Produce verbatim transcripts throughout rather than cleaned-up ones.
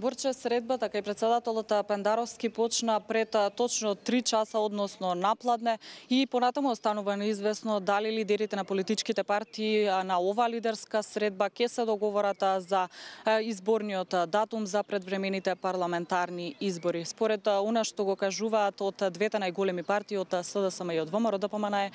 Борче, средбата кај председателот Пендаровски почна пред точно три часа, односно напладне, и понатаму останува неизвестно дали лидерите на политичките партии на оваа лидерска средба ќе се договорат за изборниот датум за предвремените парламентарни избори. Според она што го кажуваат од двете најголеми партии, од СДСМ и од ВМРО-ДПМН,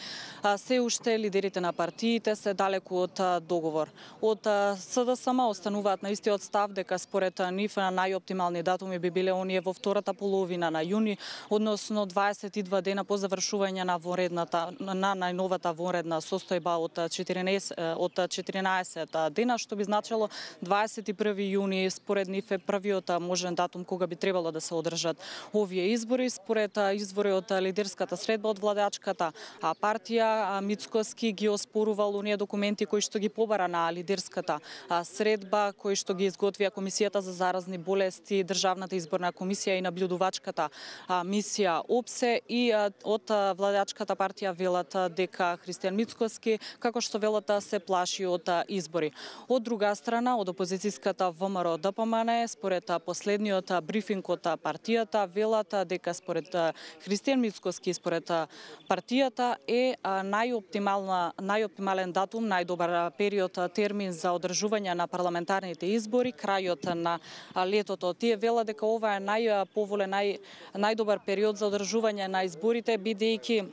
се уште лидерите на партиите се далеку од договор. Од СДСМ остануваат на истиот став дека според нив најоптимални датуми би биле оние во втората половина на јуни, односно дваесет и два дена по завршување на вонредната на најновата вонредна состојба од четиринаесет од четиринаесет дена, што би значило дваесет и први јуни според нив е првиот можен датум кога би требало да се одржат овие избори. Според извори од лидерската средба од владачката партија, Мицкоски ги оспорувал оние документи кои што ги побара на лидерската средба, кои што ги изготвија Комисијата за заразни болести, Државната изборна комисија и наблюдувачката мисија ОПСЕ, и од владачката партија велат дека Христијан Мицкоски, како што велат, се плаши од избори. Од друга страна, од опозицијската ВМРО-ДПМН, според последниот брифинг од партијата, велат дека според Христијан Мицкоски, според партијата е најоптимална најоптимален датум, најдобар период, термин за одржување на парламентарните избори крајот на летото. Тие велат дека ова е најповолен, нај, најдобар период за одржување на изборите, бидејќи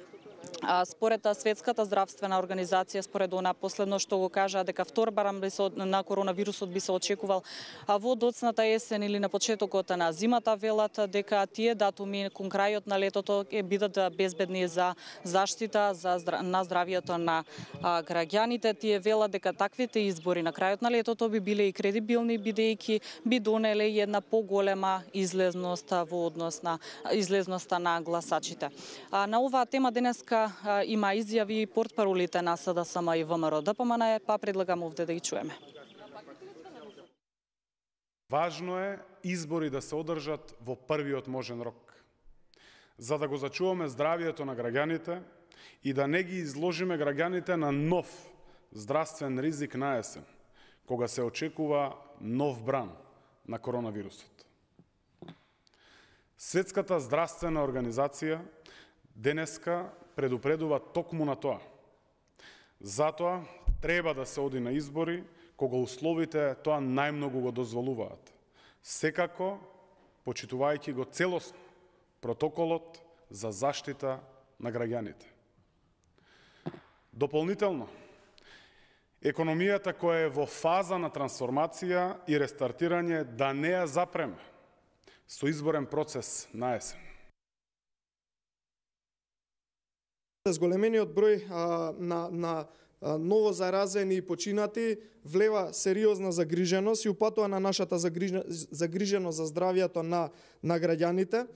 според Светската здравствена организација, според она последно што го кажа, дека втор барам на коронавирусот би се очекувал во доцната есен или на почетокот на зимата, велат дека тие датуми кон крајот на летото ќе бидат безбедни за заштита за на здравието на граѓаните. Тие велат дека таквите избори на крајот на летото би биле и кредибилни, бидејќи би донеле една поголема излезност во однос на излезноста на гласачите. На оваа тема денеска има изјави портпаролите на СДСМ и ВМРО-ДПМН, па предлагам овде да ги чуеме. Важно е избори да се одржат во првиот можен рок, за да го зачуваме здравието на граѓаните и да не ги изложиме граѓаните на нов здравствен ризик на есен, кога се очекува нов бран на коронавирусот. Светската здравствена организација денеска предупредува токму на тоа. Затоа треба да се оди на избори кога условите тоа најмногу го дозволуваат. Секако почитувајќи го целосно протоколот за заштита на граѓаните. Дополнително, економијата која е во фаза на трансформација и рестартирање да не ја запреме со изборен процес на есен. Зголемениот број а, на, на а, ново заразени и починати влева сериозна загриженост и упатува на нашата загриженост за здравието на, на граѓаните.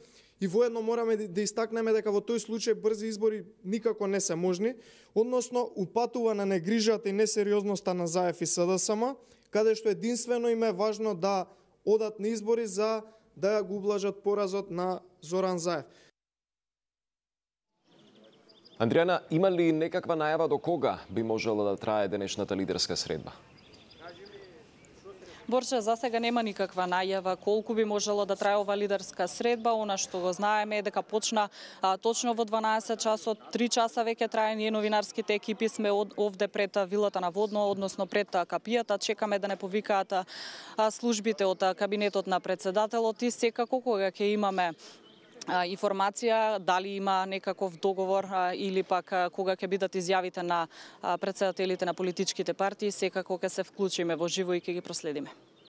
И воедно мораме да истакнеме дека во тој случај брзи избори никако не се можни, односно упатува на негрижата и несериозноста на ЗАЕФ и СДСМ, каде што единствено им е важно да одат на избори за да го ублажат поразот на Зоран Заев. Андријана, има ли некаква најава до кога би можела да трае денешната лидерска средба? Борче, за сега нема никаква најава колку би можела да трае ова лидерска средба. Она што го знаеме е дека почна а, точно во дванаесет часот, три часа веќе трае. Ние новинарските екипи сме од, овде пред вилата на Водно, односно пред капијата. Чекаме да не повикаат а, службите од кабинетот на председателот и секако кога ќе имаме информација дали има некаков договор или пак кога ќе бидат изјавите на председателите на политичките партии, секако ќе се вклучиме во живо и ќе ги проследиме.